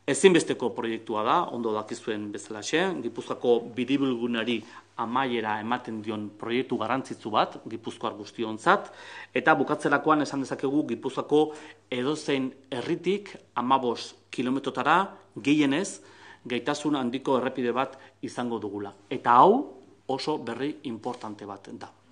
Ezinbesteko proiektua da, ondo dakizuen bezalaxe, Gipuzkoako biribilgunari amaiera ematen dion proiektu garrantzitsu bat, Gipuzkoar guztiontzat, eta bukatzerakoan esan dezakegu Gipuzkoako edozein herritik 15 kilometrotara gehienez gaitasun handiko errepide bat izango dugula. Eta hau oso berri importante bat da.